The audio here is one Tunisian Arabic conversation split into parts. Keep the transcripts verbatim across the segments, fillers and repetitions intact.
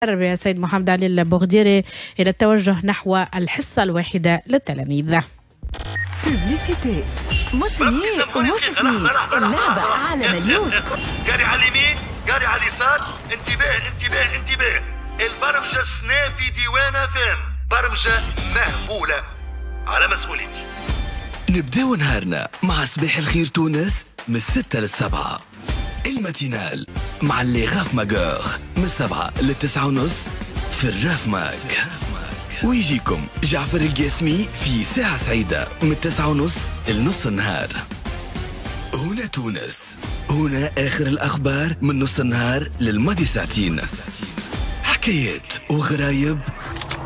التربية سيد محمد علي البوغديري إلى التوجه نحو الحصة الواحدة للتلاميذ. publicité مش مية ومش اثنين، اللعبة على مليون. قاري على اليمين، قاري على اليسار، انتباه انتباه انتباه، البرمجة سنا في ديوان FM، برمجة مهبولة على مسؤوليتي. نبداو نهارنا مع صباح الخير تونس من الستة للسبعة. ال matinale مع les Raf Magueurs من السبعة للتسعة ونص في الراف ماك. ويجيكم جعفر القاسمي في ساعة سعيدة من التسعة ونص لنص النهار. هنا تونس، هنا آخر الأخبار من نص النهار للماضي ساعتين. حكايات وغرايب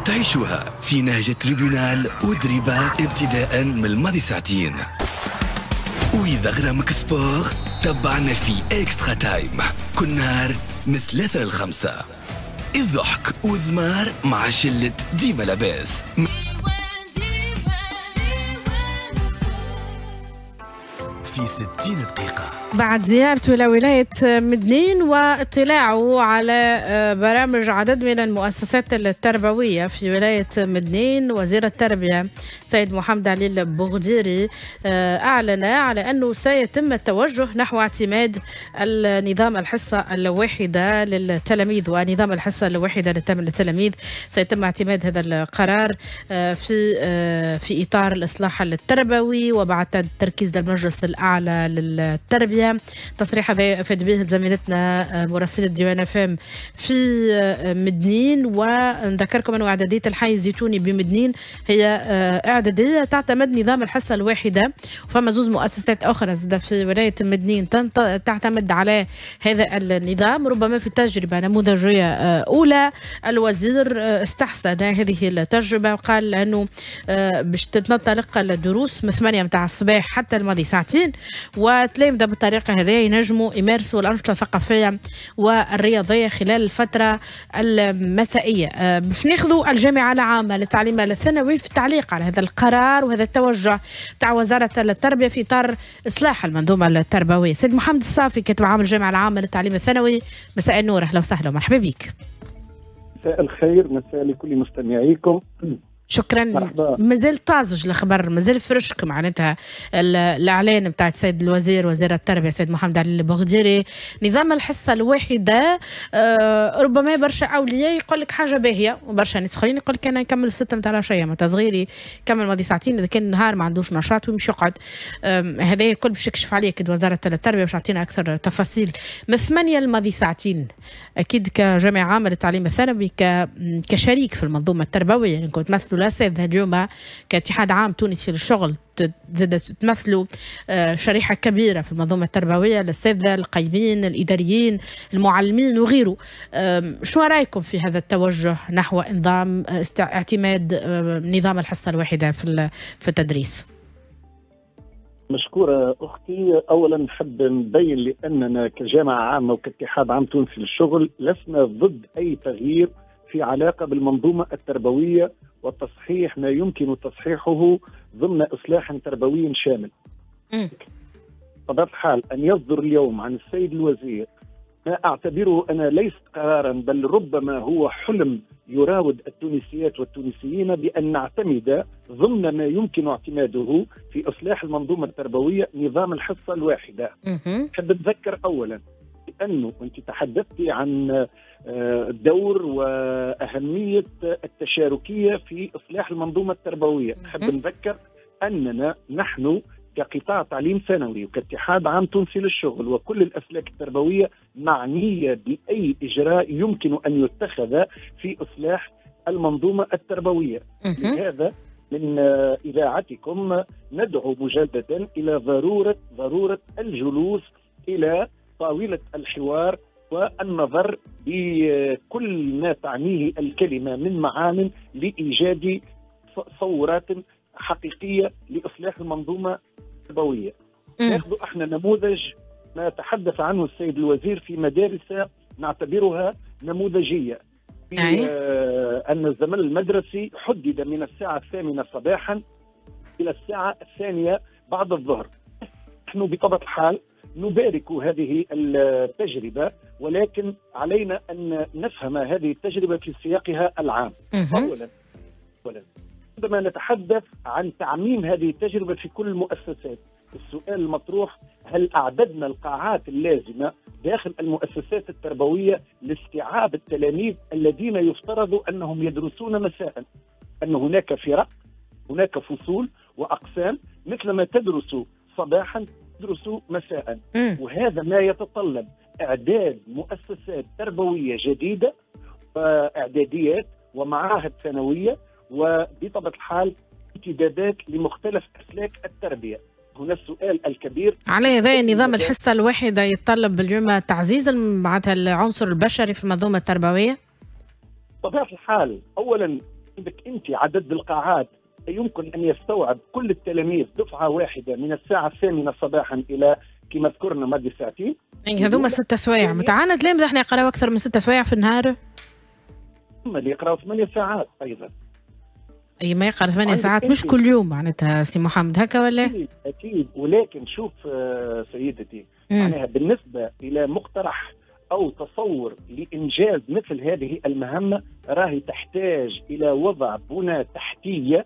تعيشوها في نهج tribunal ودريبة ابتداء من الماضي ساعتين. وإذا غرامك sport تبعنا في Extra Time كل نهار من ثلاثة للخمسة. الضحك والذمار مع شلة ديما لاباس. في ستين دقيقة. بعد زيارته إلى ولاية مدنين واطلاعه على برامج عدد من المؤسسات التربوية في ولاية مدنين، وزير التربية سيد محمد علي البوغديري أعلن على أنه سيتم التوجه نحو اعتماد النظام الحصة الواحدة للتلاميذ ونظام الحصة الواحدة للتلاميذ. سيتم اعتماد هذا القرار في في إطار الإصلاح التربوي وبعد التركيز للمجلس الأعلى للتربية. تصريح هذا أفاد به زميلتنا مراسلة ديوان FM في مدنين. ونذكركم أنه إعدادية الحي الزيتوني بمدنين هي إعدادية تعتمد نظام الحصة الواحدة، وفما زوز مؤسسات أخرى في ولاية مدنين تعتمد على هذا النظام. ربما في تجربة نموذجية أولى الوزير استحسن هذه التجربة وقال أنه باش تنطلق الدروس من ثمانية متاع الصباح حتى الماضي ساعتين، وتلامذة بالطريقة هذه ينجموا يمارسوا الأنشطة الثقافية والرياضية خلال الفترة المسائية. باش ناخذوا الجامعة العامة للتعليم الثانوي في التعليق على هذا القرار وهذا التوجه تاع وزارة التربية في إطار إصلاح المنظومة التربوية. سيد محمد الصافي كاتب عام الجامعة العامة للتعليم الثانوي، مساء النور، أهلا وسهلا ومرحبا بك. مساء الخير، مساء لكل مستمعيكم. شكرا. مازال طازج الخبر، مازال فرشك معناتها الاعلان بتاع السيد الوزير وزير التربية السيد محمد علي البوغديري نظام الحصة الواحدة. آه ربما برشا اولياء يقول لك حاجة باهيه وبرشا ناس اخرين يقول لك انا نكمل ستة نتاع العشية معناتها صغيري كمل ماضي ساعتين، اذا كان النهار ما عندوش نشاط ويمشي يقعد. هذا الكل باش يكشف عليه اكيد وزارة التربية باش تعطينا اكثر تفاصيل. من ثمانية الماضي ساعتين اكيد كجامعه عامة للتعليم الثانوي كشريك في المنظومة التربوية، يعني كنت تمثلوا الأساتذة اليوم كاتحاد عام تونسي للشغل زاد تمثلوا شريحة كبيرة في المنظومة التربوية، الأساتذة، القيمين، الإداريين، المعلمين وغيره. شو رأيكم في هذا التوجه نحو نظام اعتماد نظام الحصة الواحدة في في التدريس؟ مشكورة أختي. أولا نحب نبين لأننا كجامعة عامة وكاتحاد عام تونسي للشغل لسنا ضد أي تغيير في علاقة بالمنظومة التربوية وتصحيح ما يمكن تصحيحه ضمن إصلاح تربوي شامل. بطبيعة الحال أن يصدر اليوم عن السيد الوزير ما أعتبره أنا ليس قرارا بل ربما هو حلم يراود التونسيات والتونسيين بأن نعتمد ضمن ما يمكن اعتماده في إصلاح المنظومة التربوية نظام الحصة الواحدة. أحب أتذكر أولا لأنه أنت تحدثتي عن دور وأهمية التشاركية في إصلاح المنظومة التربوية. أحب نذكر أننا نحن كقطاع تعليم ثانوي وكاتحاد عام تونسي للشغل وكل الأسلاك التربوية معنية بأي إجراء يمكن أن يتخذ في إصلاح المنظومة التربوية. لهذا من إذاعتكم ندعو مجددا إلى ضرورة ضرورة الجلوس إلى طاولة الحوار والنظر بكل ما تعنيه الكلمة من معان لإيجاد صورات حقيقية لإصلاح المنظومة التربوية. ناخذ احنا نموذج ما تحدث عنه السيد الوزير في مدارس نعتبرها نموذجية، في آه أن الزمن المدرسي حدد من الساعة الثامنة صباحا إلى الساعة الثانية بعد الظهر. نحن بطبيعة الحال نبارك هذه التجربة، ولكن علينا أن نفهم هذه التجربة في سياقها العام. أولا أولا عندما نتحدث عن تعميم هذه التجربة في كل المؤسسات، السؤال المطروح: هل أعددنا القاعات اللازمة داخل المؤسسات التربوية لاستيعاب التلاميذ الذين يفترض أنهم يدرسون مساء؟ أن هناك فرق، هناك فصول وأقسام، مثلما تدرس صباحا تدرس مساء، وهذا ما يتطلب إعداد مؤسسات تربوية جديدة وإعداديات ومعاهد ثانوية، وبطبيعة الحال امتدادات لمختلف أسلاك التربية. هنا السؤال الكبير: على هذا نظام الحصة الواحدة يتطلب اليوم تعزيز معناتها العنصر البشري في المنظومة التربوية؟ بطبيعة الحال، أولا عندك أنت عدد القاعات يمكن أن يستوعب كل التلاميذ دفعة واحدة من الساعة الثامنة صباحا إلى كما ذكرنا مدة ساعتين. يعني هذوما ست سوايع، متعانا تلامذة احنا يقراو أكثر من ست سوايع في النهار؟ هم اللي يقراو ثمانية ساعات أيضا. اي ما يقرا ثمانية ساعات مش كل يوم معناتها سي محمد، هكا ولا؟ أكيد أكيد، ولكن شوف سيدتي، معناها بالنسبة إلى مقترح أو تصور لإنجاز مثل هذه المهمة راهي تحتاج إلى وضع بنى تحتية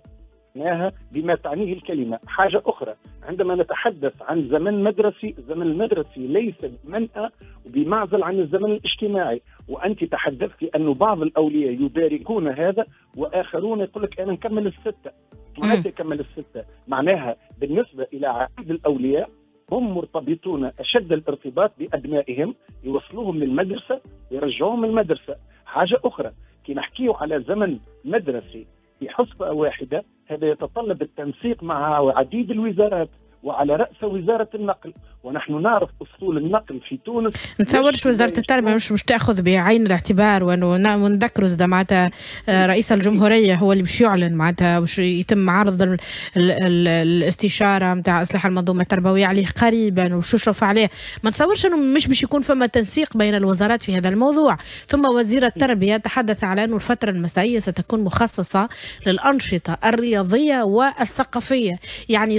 معناها بما تعنيه الكلمة. حاجة أخرى، عندما نتحدث عن زمن مدرسي، الزمن المدرسي ليس بمنأى وبمعزل عن الزمن الاجتماعي، وأنت تحدثت أن بعض الأولياء يباركون هذا وآخرون يقول لك أنا نكمل الستة. معناتها يكمل الستة؟ معناها بالنسبة إلى عدد الأولياء هم مرتبطون أشد الارتباط بأبنائهم، يوصلوهم للمدرسة يرجعوهم من المدرسة. حاجة أخرى، كي نحكيه على زمن مدرسي في حصة واحدة، هذا يتطلب التنسيق مع عديد الوزارات وعلى رأس وزارة النقل، ونحن نعرف أصول النقل في تونس. نتصورش وزارة التربية مش مش تأخذ بعين الاعتبار، ونذكروا زاد معناتها رئيس الجمهورية هو اللي باش يعلن معناتها باش يتم عرض ال ال ال الاستشارة نتاع إصلاح المنظومة التربوية عليه قريبا وشوف عليه. ما نتصورش أنه مش باش يكون فما تنسيق بين الوزارات في هذا الموضوع. ثم وزير التربية تحدث على أنه الفترة المسائية ستكون مخصصة للأنشطة الرياضية والثقافية، يعني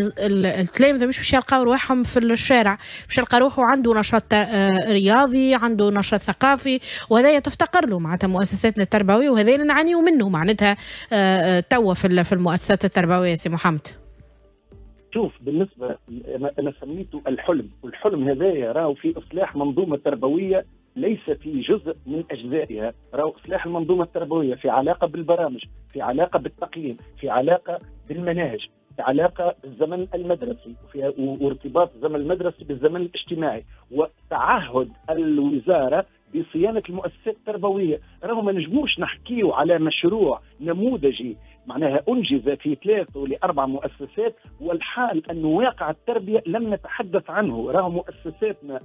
التلامذة مش باش يلقاو رواحهم في الشارع، باش يلقى روحه عنده نشاط رياضي، عنده نشاط ثقافي، وهذا تفتقر له معناتها مؤسساتنا التربوية، وهذا اللي نعانيو منه معناتها توا في المؤسسات التربوية. سي محمد، شوف بالنسبة انا سميته الحلم، والحلم هذايا راهو في اصلاح منظومة تربوية ليس في جزء من اجزائها، راهو اصلاح المنظومة التربوية في علاقة بالبرامج، في علاقة بالتقييم، في علاقة بالمناهج، في علاقة بالزمن المدرسي، وفي وارتباط الزمن المدرسي بالزمن الاجتماعي، وتعهد الوزارة بصيانة المؤسسات التربوية. راهو ما نجموش نحكيو على مشروع نموذجي معناها أنجز في ثلاث ولأربع مؤسسات، والحال أن واقع التربية لم نتحدث عنه. راهو مؤسساتنا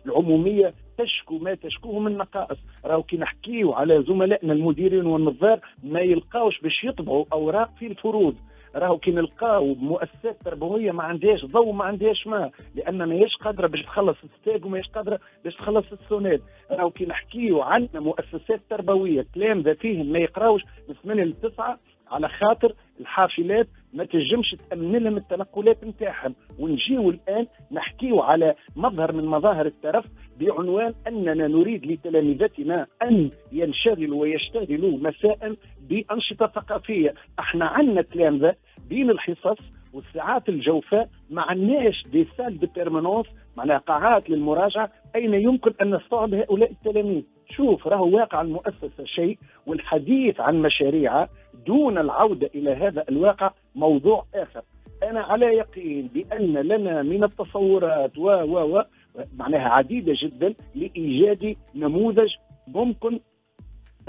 العمومية تشكو ما تشكوه من نقائص. راهو كي نحكيو على زملائنا المديرين والنظار ما يلقاوش باش يطبعوا أوراق في الفروض. راهو كي نلقاو مؤسسات تربوية ما عندهاش ضوء، ما عندهاش ماء، لان ماهيش قادرة باش تخلص الستاج وماهيش قادرة باش تخلص السوناد. راهو كي نحكيو عندنا مؤسسات تربوية تلامذه فيهم ما يقراوش من ثمانية ل تسعة على خاطر الحافلات ما تنجمش تأمن لهم التنقلات نتاعهم. ونجيو الآن نحكيو على مظهر من مظاهر الترف بعنوان أننا نريد لتلامذتنا أن ينشغلوا ويشتغلوا مساء بأنشطة ثقافية. احنا عندنا تلامذة بين الحصص والساعات الجوفاء ما عندناش des salles de permanence، معناها قاعات للمراجعة أين يمكن أن نستوعب هؤلاء التلاميذ. شوف راهو واقع المؤسسة شيء، والحديث عن مشاريع دون العودة إلى هذا الواقع موضوع آخر. أنا على يقين بأن لنا من التصورات و و و معناها عديدة جدا لإيجاد نموذج ممكن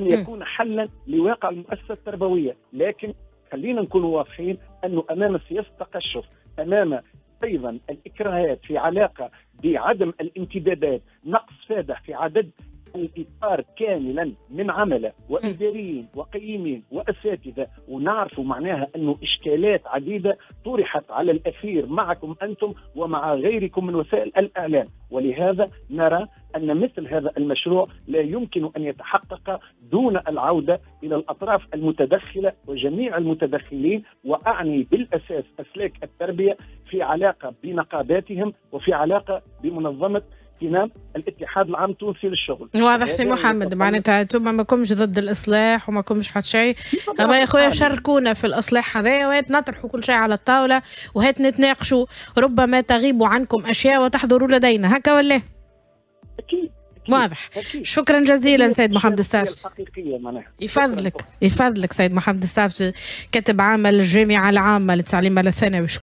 أن يكون حلا لواقع المؤسسة التربوية، لكن خلينا نكون واضحين أنه أمام سياسة التقشف، أمام أيضا الإكراهات في علاقة بعدم الانتدابات، نقص فادح في عدد الإطار كاملا من عملة وإداريين وقيمين وأساتذة، ونعرف معناها أنه إشكالات عديدة طرحت على الأثير معكم أنتم ومع غيركم من وسائل الإعلام، ولهذا نرى أن مثل هذا المشروع لا يمكن أن يتحقق دون العودة إلى الأطراف المتدخلة وجميع المتدخلين، وأعني بالأساس أسلاك التربية في علاقة بنقاباتهم وفي علاقة بمنظمة كنام الاتحاد العام التونسي للشغل. واضح سي محمد، معناتها انتم ما كومش ضد الاصلاح وما كومش حتى شيء، اما يا خويا شاركونا في الاصلاح هذايا وهات نطرحوا كل شيء على الطاولة وهات نتناقشوا، ربما تغيب عنكم اشياء وتحضروا لدينا، هكا ولا؟ اكيد. واضح. شكرا جزيلا سيد محمد الصافي. يفضلك يفضلك سيد محمد الصافي، كاتب عام الجامعة العامة للتعليم الثانوي.